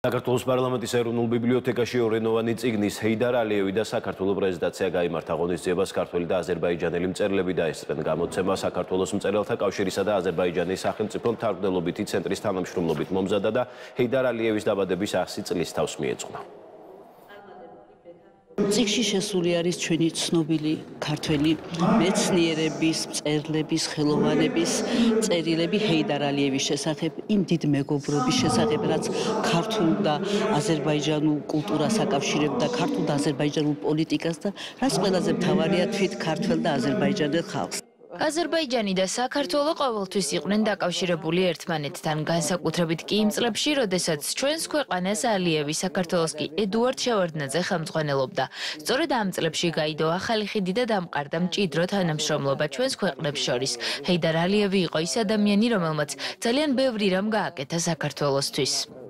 საქართველოს პარლამენტის ეროვნულ ბიბლიოთეკაში ორენოვანი წიგნის ჰეიდარ ალიევი და საქართველოს პრეზენტაცია გაიმართა. ღონისძიებას ქართველი და აზერბაიჯანელი მწერლები დაესწრნენ. გამოცემა საქართველოს მწერალთა კავშირისა და აზერბაიჯანის სახელმწიფო მთარგმნელობითი ცენტრის თანამშრომლობით მომზადა და ჰეიდარ ალიევის დაბადების 100 წლის თავს მიეძღვნა. წიგნში შესული არის ჩვენი ცნობილი ქართველი მეცნიერების, მწერლების, ხელოვანების წერილები ჰეიდარ ალიევის შესახებ, იმ დიდ მეგობრობის შესახებ, რაც ქართულ და აზერბაიჯანულ კულტურას აკავშირებდა, ქართულ და აზერბაიჯანულ პოლიტიკას და რაც ყველაზე მთავარია თვით ქართველ და აზერბაიჯანელ ხალხს. აზერბაიჯანი და საქართველო ყოველთვის იყვნენ დაკავშირებული ერთმანეთთან, განსაკუთრებით კი იმ წლებში, როდესაც ჩვენს ქვეყანას ალიევი, საქართველოს კი ედუარდ შევარდნაძე ხელმძღვანელობდა. სწორედ ამ წლებში გაიდო ახალი ხიდი და დამყარდა მჭიდრო თანამშრომლობა ჩვენს ქვეყნებს შორის. ჰეიდარ ალიევი იყო ის ადამიანი, რომელმაც ძალიან ბევრი რამ გააკეთა საქართველოსთვის.